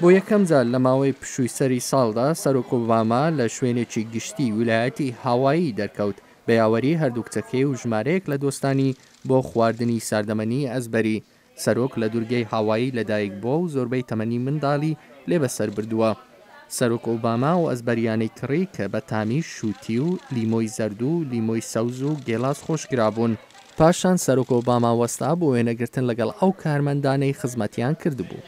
بۆ یەکەم جار لە ماوەی پشووی سەری ساڵدا، سەرۆک ئۆباما لە شوێنێکی گشتی ویلایەتی هاوایی دەرکەوت، بە یاوەری هەردوو کچەکەی و ژمارەیەک لە دۆستانی بۆ خواردنی ساردەمەنی ئەزبەری. سەرۆک لە دورگەی هاوایی لەدایک بووە و زۆربەی تەمەنی منداڵی لێ بەسەر بردووە. سەرۆک ئۆباما ئەو ئەزبەریانەی کڕی کە بە تامی شووتی و لیمۆی زەرد و لیمۆی سەوز و گێلاس خۆشکرابوون. پاشان سەرۆک ئۆباما وەستا بۆ وێنەگرتن لەگەڵ ئەو کارمەندانەی خزمەتیان کردبوو.